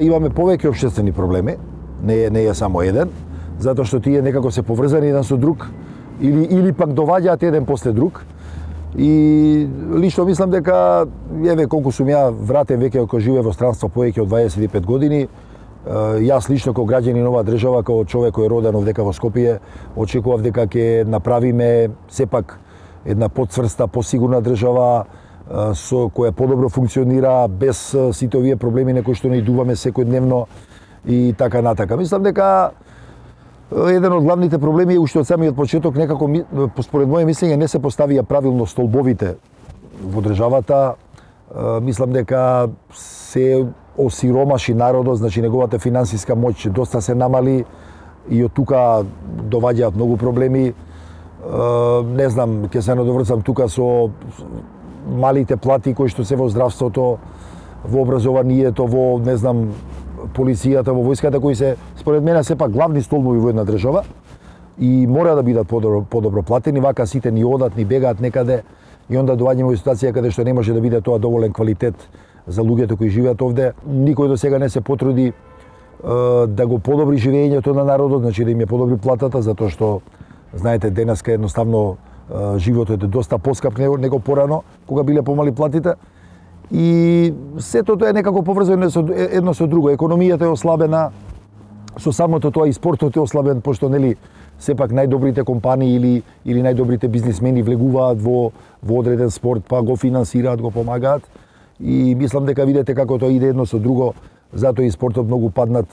Имаме повеќе општествени проблеми, не е само еден, затоа што тие некако се поврзани еден со друг или пак доваѓаат еден после друг. И лично мислам дека еве колку сум ја вратен веќе кој живее во странство повеќе од 25 години, јас лично како граѓанин оваа држава, како човек кој е роден овдека во Скопје, очекував дека ќе направиме сепак една поцврста, посигурна држава со која подобро функционира без сите овие проблеми на кои што наидуваме секојдневно и така натака. Мислам дека еден од главните проблеми е уште од самиот почеток некако според моје мислење не се поставија правилно столбовите во државата. Мислам дека се осиромаши народот, значи неговата финансиска моќ доста се намали и од тука доваѓаат многу проблеми. Не знам, ќе се надоврзам тука со малите плати кои што се во здравството, во образованието, во не знам полицијата, во војската, кои се според мене сепак главни столбови во една држава и мора да бидат подобро платени, вака сите ни одат, ни бегаат некаде и онда доаѓаме во ситуација каде што не може да биде тоа доволен квалитет за луѓето кои живеат овде. Никој до сега не се потруди да го подобри живењето на народот, значи да им ја подобри платата, затоа што знаете денеска едноставно животот е доста поскап него порано, кога биле помали платите. И сето тоа е некако поврзано едно со друго. Економијата е ослабена, со самото тоа и спортот е ослабен, пошто нели сепак најдобрите компании или најдобрите бизнисмени влегуваат во одреден спорт, па го финансираат, го помагаат. И мислам дека видите како тоа иде едно со друго, затоа и спортот многу паднат,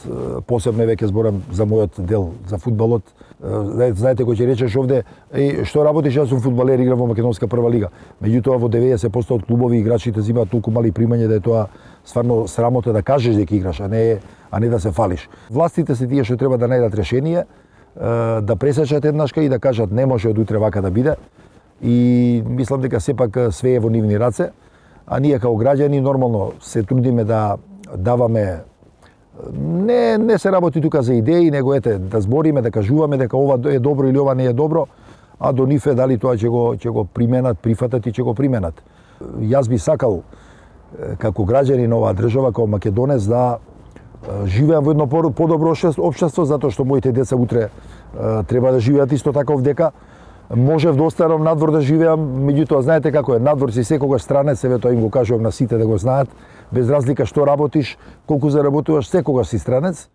посебно веќе зборам за мојот дел, за фудбалот. Знаете кој ќе речеш овде, што работиш, јас сум фудбалер, играм во македонска прва лига. Меѓутоа во 90% од клубови играчите земаат толку мали примања да е тоа стварно срамота да кажеш дека играш, а не да се фалиш. Властите се тие што треба да најдат решение, да пресечат еднашка и да кажат не може од утре вака да биде. И мислам дека сепак све е во нивни раце, а ние како граѓани нормално се трудиме да даваме не се работи тука за идеи, него да збориме, да кажуваме дека ова е добро или ова не е добро, а до нив е дали тоа ќе го применат, прифатат и ќе го применат. Јас би сакал како граѓанин оваа држава, како македонец, да живеам во едно подобро општество, затоа што моите деца утре треба да живеат исто така овдека. Можев да останам надвор да живеам, меѓутоа знаете како е, надвор си секогаш странец, еве тоа им го кажувам на сите да го знаат, без разлика што работиш, колку заработуваш, секогаш си странец.